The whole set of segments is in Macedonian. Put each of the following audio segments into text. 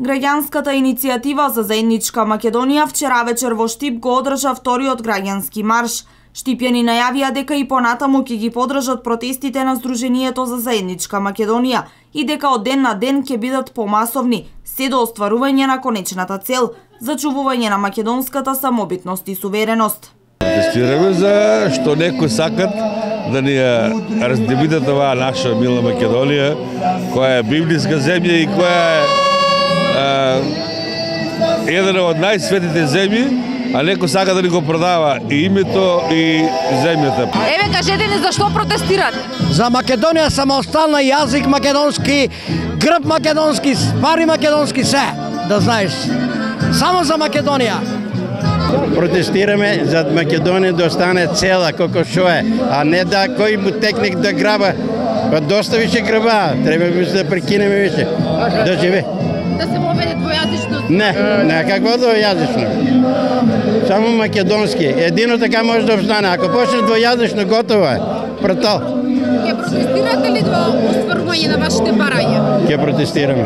Граѓанската иницијатива за заедничка Македонија вчера вечер во Штип го одржа вториот граѓански марш. Штипјани најавија дека и понатаму ќе ги поддржат протестите на Сдруженијето за заедничка Македонија и дека од ден на ден ќе бидат помасовни, се до остварување на конечната цел – зачувување на македонската самобитност и сувереност. Протестираме за што некои сакат да ни раздебитат оваа наша мила Македонија, која е библиска земја и која е една од најсветите земји, а некој сака да ни го продава и името и земјата. Еве, кажете ни зашто протестират? За Македонија самостојна, јазик македонски, грб македонски, пари македонски, се, да знаеш. Само за Македонија. Протестираме за Македонија да остане цела како што е, а не да кој му техник да граба. Па доста више граба, треба да прекинеме више. Да живе. Да се воведе двојазичност? Не, какво двојазично? Само македонски. Едино така може да обстане. Ако почне двојазично, готово е. Протол. Ке протестирате ли до остварување на вашите барања? Ке протестираме.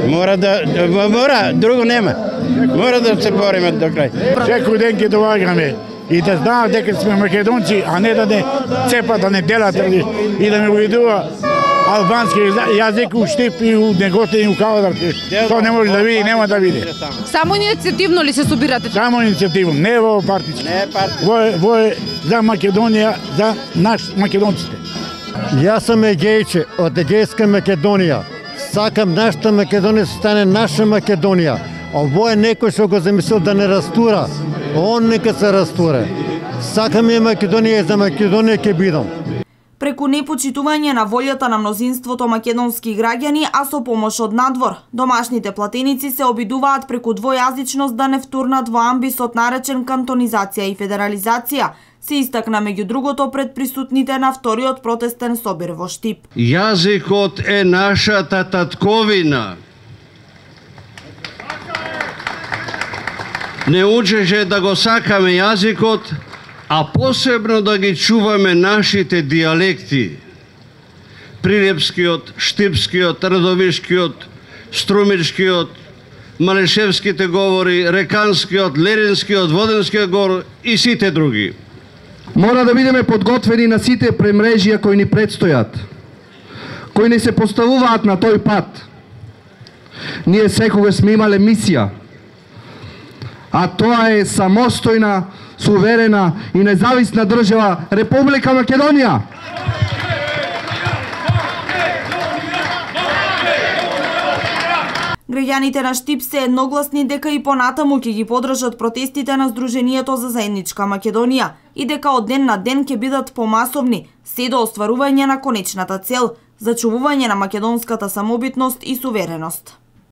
Мора, друго нема. Мора да се бориме до крај. Секој ден ќе доаѓаме и да знаат дека сме македонци, а не да не цепат, да не делат и да не увидува албански јазик у Штип и у Неготин и у Кавадар. Тоа не може да види, нема да види. Само иницијативно ли се собирате? Само иницијативно, не во партички. Не партички. Во е за Македонија, за наш македонците. Јас сум егејче од Егејска Македонија. Сакам нашата Македонија да стане наша Македонија. Ово е некој што го замислил да не растура. Он нека се растуре. Сакам ја Македонија и за Македонија ќе бидам. Преку непочитување на волјата на мнозинството македонски граѓани, а со помош од надвор, домашните платеници се обидуваат преку двојазичност да не втурнат во амбисот наречен кантонизација и федерализација, се истакна меѓу другото пред присутните на вториот протестен собир во Штип. Јазикот е нашата татковина. Не учеше да го сакаме јазикот, а посебно да ги чуваме нашите дијалекти. Прилепскиот, Штипскиот, Радовишкиот, Струмичкиот, Малешевските говори, Реканскиот, Леринскиот, Воденскиот говор и сите други. Мора да бидеме подготвени на сите премрежија кои ни предстојат, кои не се поставуваат на тој пат. Ние секогаш сме имале мисија, а тоа е самостојна, суверена и независна држава Република Македонија. Граѓаните на Штип се едногласни дека и понатаму ќе ги поддржат протестите на Сдруженијето за заедничка Македонија и дека од ден на ден ќе бидат помасовни, се до остварување на конечната цел – зачувување на македонската самобитност и сувереност.